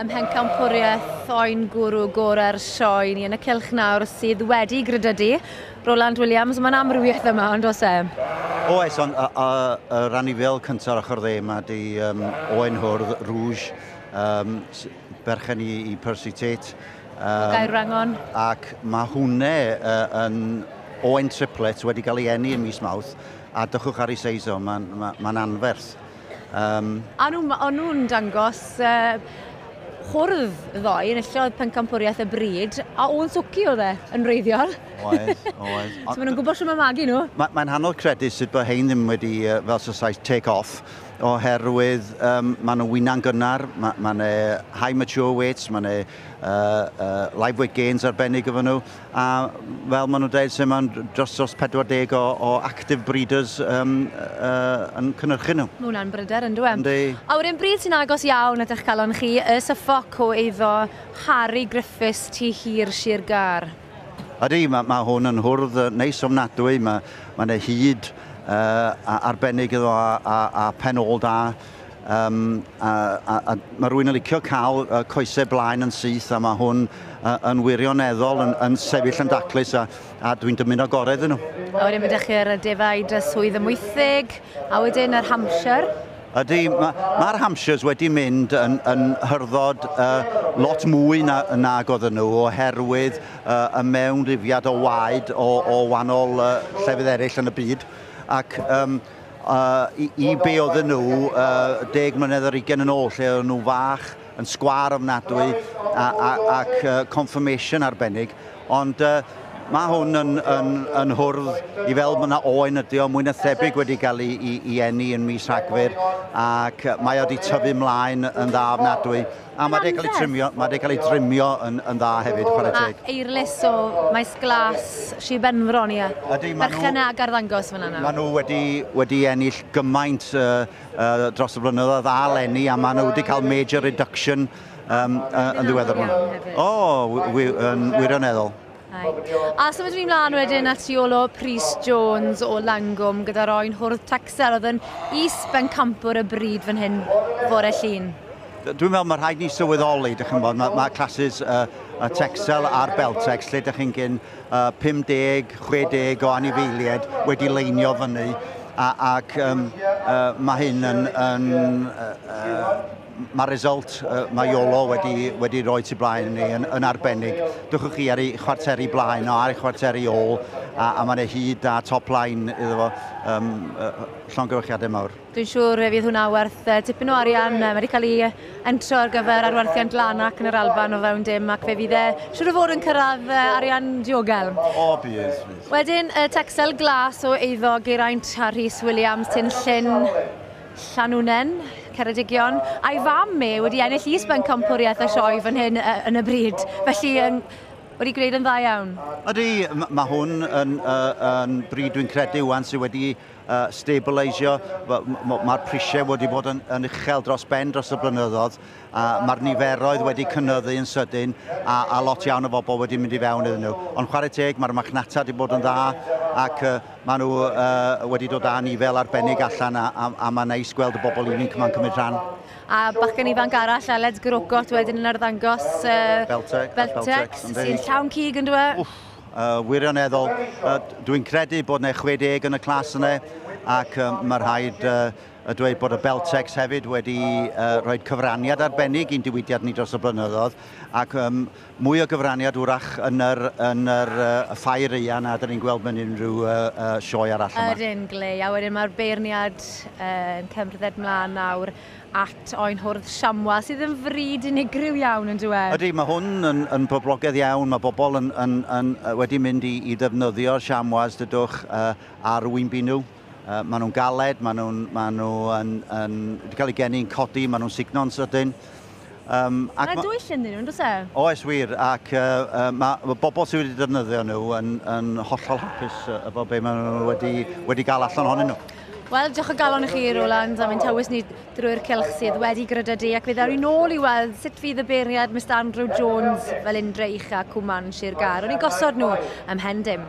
Ym mhencampwriaeth oen gwrw gorau'r sioe ni yn y cylch nawr sydd wedi grydydu. Roland Williams, mae'n amrywiaeth yma, ond oes e? Oes, ond yr anifail cyntaf ar ochr dde yma di Oen Hwrdd Rouge, berchen i Percy Tate. Gaerwrangon. Ac mae hwnne yn oen triplet wedi cael ei eni yn mis Mawrth, a dychwch ar ei seis o, mae'n ma anferth. A nhw'n nhw dangos hwrdd ddoe, enillodd pencampwriaeth y bryd, a o'n swci oedd e yn wreiddiol. Oedd, oedd. So maen nhw'n gwybod sut mae magu nhw. Mae'n anodd credu sut bod hein ddim wedi, fel Saesneg, take off, oherwydd maen nhw wyna'n gynnar, mae ma high mature weights, mae yna live weight gains arbennig efo nhw, a fel maen nhw'n dweud, sy'n maen dros 40 o active breeders yn cynhyrchu nhw. Mae hwnna'n bryder yn dweud. Yndi. A wedyn bryd sy'n agos iawn at eich calon chi, y Suffolk o eiddo Harry Griffiths Tŷ Hir Sir Gâr. Ydy, mae hwn yn hwrdd neis ofnadwy, mae ma hyd arbennig iddo a pen ôl da. A mae rhywun yn licio cael coesau blaen yn syth a mae hwn yn wirioneddol yn sefyll yn daclus a dwi'n dymuno gorau iddyn nhw. A wedyn mae chi'r defaid y Swydd Amwythig, a wedyn yr Hampshire. Ydy, mae'r Hampshires wedi mynd yn hyrddod lot mwy nag oedden nhw oherwydd y mewnlifiad o waed o wahanol llefydd eraill yn y byd. Ac i be oedden nhw 10 mlynedd ar 20 yn ôl, lle oedden nhw fach, yn sgwar ofnadwy ac conformation arbennig. Ond mae hwn yn hwrdd i fel mae yna oen ydi o, mwy na thebyg wedi cael ei eni yn mis Rhagfyr ac mae o wedi tyfu mlaen yn dda ofnadwy. A mae wedi cael ei trimio, mae wedi cael ei trimio yn dda hefyd, chwarae teg. A Eirlys o Maes Glas, Sir Benfro ni. Ydy, ma' Berchen ag arddangos fan yna. Maen nhw wedi ennill gymaint dros y blynyddoedd a leni, a maen nhw wedi cael major reduction yn ddiweddar. Iawn hefyd. O, yn wirioneddol. Ai. A symud ni mlaen wedyn at Iolo Prys Jones o Langwm gyda'r oen hwrdd Texel oedd yn is-bencampwr y bryd fan hyn fore Llun. Dwi'n meddwl mae rhaid ni sylweddoli, dych chi'n bod, mae classes y Texel a'r Beltex, lle dych chi'n gyn 50, 60 o anifeiliaid wedi leinio fyny, ac mae hyn yn mae result mae Iolo wedi rhoi tu blaen ni yn arbennig. Dwchwch chi ar ei chwarteri blaen o ar ei chwarteri ôl, a mae'n ei hyd a top line iddo fo. Llongyfarchiadau mawr. Dwi'n siŵr fe fydd hwnna werth tipyn o arian. Mae wedi cael ei entro ar gyfer arwerthiant Lanark yn yr Alban o fewn dim ac fe fydd e siŵr o fod yn cyrraedd arian diogel. O, bydd. Bydd. Wedyn, y Texel Glas o eiddo Geraint a Rhys Williams, Tyn Llyn, Llanwnen, Ceredigion, a'i fam e wedi ennill is-bencampwriaeth y sioe fan hyn yn y bryd. Felly, wedi gwneud yn dda iawn. Ydy, mae hwn yn bryd dwi'n credu wan sydd wedi stabilisio. Mae'r prisiau wedi bod yn uchel dros ben dros y blynyddoedd. A mae'r niferoedd wedi cynyddu yn sydyn a lot iawn o bobl wedi mynd i fewn iddyn nhw. Ond chwarae teg, mae'r machnata wedi bod yn dda ac maen nhw wedi dod â nifel arbennig allan a mae'n neis gweld y bobl ifanc yma'n cymryd rhan. A bachgen ifanc arall, Aled Grocott, wedyn yn arddangos Beltex, Beltex, Beltex, yndi. sy'n llawn cig yn dweud? Wff, wirioneddol. Dwi'n credu bod yna 60 yn y clas yna ac mae rhaid y dweud bod y Beltex hefyd wedi rhoi cyfraniad arbennig i'n diwydiad ni dros y blynyddoedd ac mwy o gyfraniad wrach yn yr ffair aeaf na dyn ni'n gweld mewn unrhyw sioe arall yma. Ydyn, glei. A wedyn mae'r beirniad yn cymryd mlaen nawr at oen hwrdd Chamois, sydd yn fryd unigryw iawn yn dweud. Ydy, mae hwn yn poblogaidd iawn. Mae bobl yn wedi mynd i ddefnyddio chamois, dydwch, ar wynbu nhw. Maen nhw'n galed, maen nhw wedi cael eu geni'n codi, maen nhw'n sugno'n sydyn. Ac Mae dwyll ynddyn nhw, does e? Oes wir, ac mae bobl sydd wedi defnyddio nhw yn hollol hapus efo be maen nhw wedi gael allan ohonyn nhw. Wel, diolch o galon i chi, Roland, am ein tywys ni drwy'r cylch sydd wedi grydydu ac fe ddaw ni nôl i weld sut fydd y beirniad Mr Andrew Jones Felindre Ucha Cwmann Sir Gâr. O'n i gosod nhw ym mhen dim.